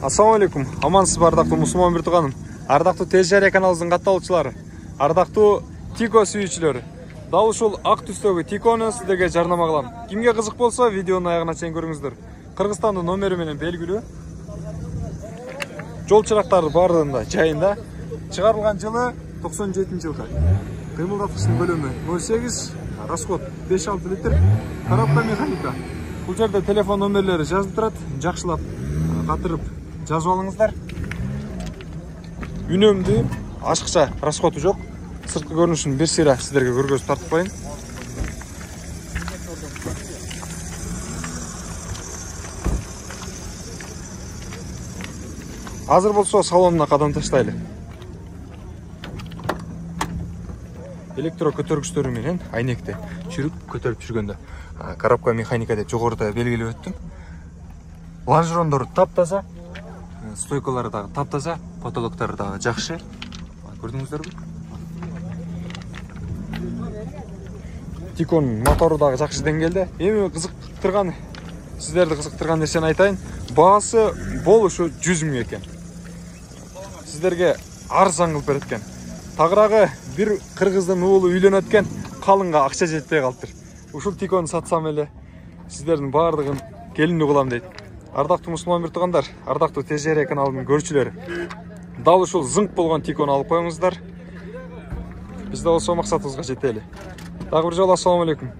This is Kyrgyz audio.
Assalamu alaikum. Амансыз ба ардактуу мусулман биртуганым. Ардактуу Тез Жарыя каналыбыздын катталуучулары, ардактуу Тико сүйүүчүлөрү. Дал ушул ак түстөгү Тикону сиздерге жарнама кылам. Кимге кызык болсо, видеонун аягына чейин көрүңүздөр. Кыргызстандын номери менен белгилүү. Жол чырактары бардыгында жайында. Чыгарылган жылы 97-жылы. Кыймылдаткычтын көлөмү 0,8, расход 5-6 литр. Коробка механика. Бул жерде телефон номерлери жазылып турат. Жакшылап катырып жазып алыңыздар. Үнөмдүү, ашыкча расходу жок. Сырткы көрүнүшүн бир сыйра сиздерге көргөзүп тартып коеюн. Азыр болсо салонуна кадам таштайлы. Электро көтөргүчтөрү менен айнекти чүрүп көтөрүп жүргөндө коробка механика деп жогоруда белгилеп өттүм. Лонжерондору таптаза, стойкалары дагы таптаза, потолоктору дагы жакшы. Көрдүңүздөрбү? Тиконун мотору дагы жакшы деңгээлде. Эми кызыктырган, сиздерди кызыктырган нерсени айтайын. Баасы болушу 100 000 экен. Сиздерге арзан кылып берет экен. Тагыраагы бир кыргыздын уулу үйлөнөт экен, калынга акча жетпей калыптыр. Ушул Тикону сатсам эле сиздердин баардыгын келиндүү кылам дейт. Ардактуу мусулман биртугандар, ардактуу Тез Жарыя каналынын көрүүчүлөрү. Дал ушул зыңк болгон Тикону алып коюңуздар. Биз да болсо максатыбызга жетели. Дагы бир жолу ассаламу алейкум.